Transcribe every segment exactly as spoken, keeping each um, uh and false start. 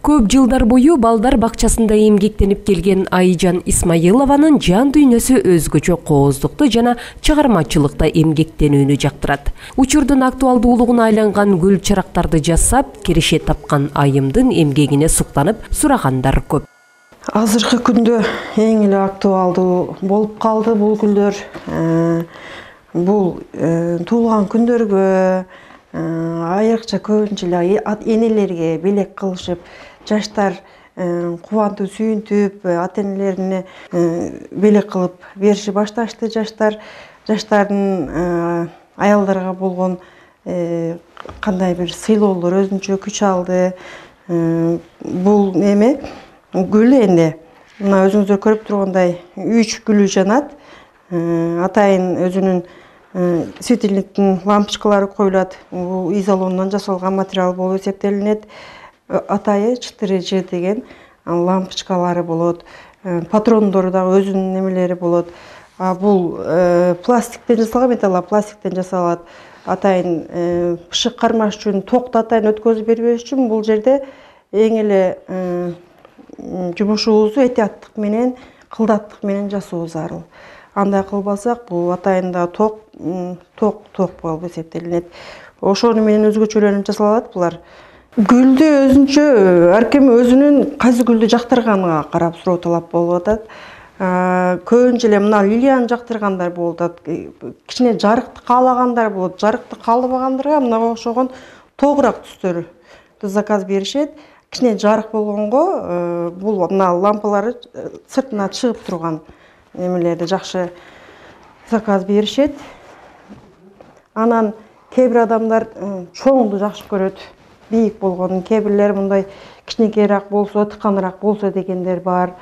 Көп жылдар бою балдар бакчасында эмгектенип келген Айжан Исмаилованын жан дүйнөсү өзгөчө кооздукту жана чыгармачылыкта эмгектенүүнү жактырат. Учурдун актуалдуулугуна айланган гүл чырактарды жасап, киреше тапкан айымдын эмгегине суктанып сурагандар көп. Азыркы күндө эң эле актуалдуу болуп калды бул гүлдөр. Бул туулган күндөргө, айрыкча көбүнчө эле энелерге белек кылышып, жаштар кубандуу сүйүнтүп, ата-энелерине белек кылып бериши башташты. Жаштар жаштардын аялдарга болгон кандай бир сыйлоолор өзүнчө күч алды. Бул эме гүл энди мына өзүңүздөр көрүп тургандай үч гүлү жанат. Атайын өзүнүн светильниктин лампочкалары коюлат. Бул изолондон жасалган материал болуп эсептелинет. Атайы четыре жи деген лампочкалары болот. Патрондору дагы өзүнүн немелери болот. Бул пластиктен жасалган, металлопластиктен жасалат. Атайын ышык кармаш үчүн, токту атайын өткөзүп бербеш үчүн бул жерде эң эле жумушубузду этияттык менен, кылдаттык менен жасоо зарыл. Андай кылбасак, бул атайында ток, ток, ток болуп эсептелинет. Ошону менен өзгөчөлөнүп жасалат булар. Гүлдү өзүнчө ар ким өзүнүн кайсы гүлдү жактырганына карап суроо талап болуп атат. Көбүнчө эле мына лилияны жактыргандар болуп атат. Кичине жарыкты каалагандар болот. Жарыкты каалабагандарга мынага окшогон тогурак түстөрдү заказ беришет. Кичине жарык болгонго бул мына лампалары сыртына чыгып турган немелерди жакшы заказ беришет. Анан кээ бир адамдар чоңду жакшы көрөт, бийик болгонун. Кээ бирлер мындай кичинекейраак болсо, тыканыраак болсо дегендер бар.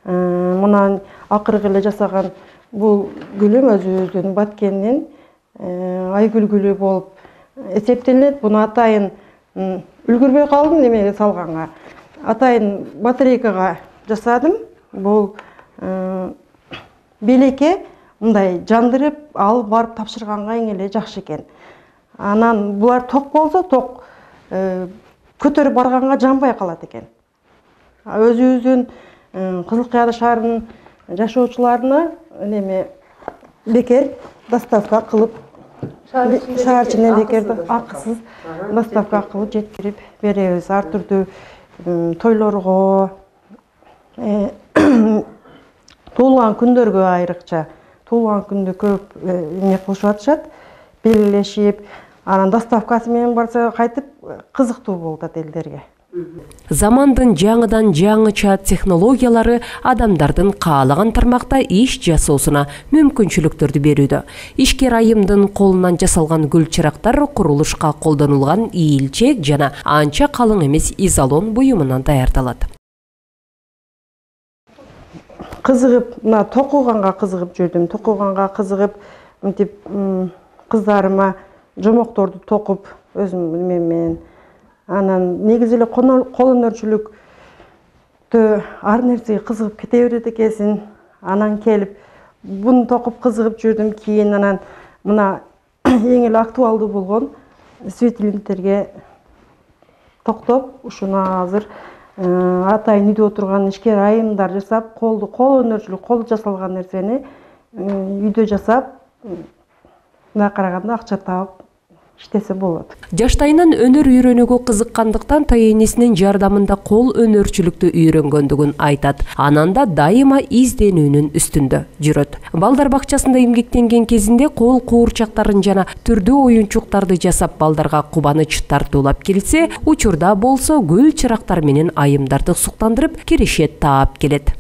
Мына акыркы эле жасаган бул гүлүм өзүбүздүн Баткендин айгүл гүлү болуп эсептелинет. Буну атайын үлгүрбөй калдым немеге салганга. Атайын батарейкага жасадым. Бул белекке мындай жандырып алып барып тапшырганга эң эле жакшы экен. Анан булар ток болсо, ток көтөрүп барганга жанбай калат экен. Өзүбүздүн Кызыл Кыяды шаарынын жашоочуларына неме бекер доставка кылып, шаар ичинен бекер акысыз доставка кылып жеткирип беребиз. Ар түрдүү тойлорго, туулган күндөргө айрыкча, туулган күндө көп эмне кылышып атышат, белгилешип, анан доставкасы менен барса кайтып кызыктуу болуп атат элдерге. Замандын жаңыдан жаңыча технологиялары адамдардын каалаган тармакта иш жасоосуна мүмкүнчүлүктөрдү берүүдө. Ишкер айымдын колунан жасалган гүл чырактар курулушка колдонулган ийилчек жана анча калың эмес изолон буюмунан даярдалат. Кызыгып, мына токуганга кызыгып жүрдүм. Токуганга кызыгып, мынтип кыздарыма жомокторду токуп өзүм менен. Анан негизи эле кол өнөрчүлүктө ар нерсеге кызыгып кете берет экенсиң. Анан келип буну токуп кызыгып жүрдүм. Кийин анан мына эң эле актуалдуу болгон светильниктерге токтоп, ушуну азыр атайын үйдө отурган ишкер айымдар жасап, колду кол өнөрчүлүк, кол жасалган нерсени үйдө жасап, мына караганда акча таап иштесе болот. Жаштайынан өнөр үйрөнүүгө кызыккандыктан тайэнесинин жардамында кол өнөрчүлүктү үйрөнгөндүгүн айтат. Ананда дайыма изденүүнүн үстүндө жүрөт. Балдар бакчасында эмгектенген кезинде кол куурчактарын жана түрдүү оюнчуктарды жасап балдарга кубаныч тартуулап келсе, учурда болсо гүл чырактар менен айымдарды суктандырып, киреше таап келет.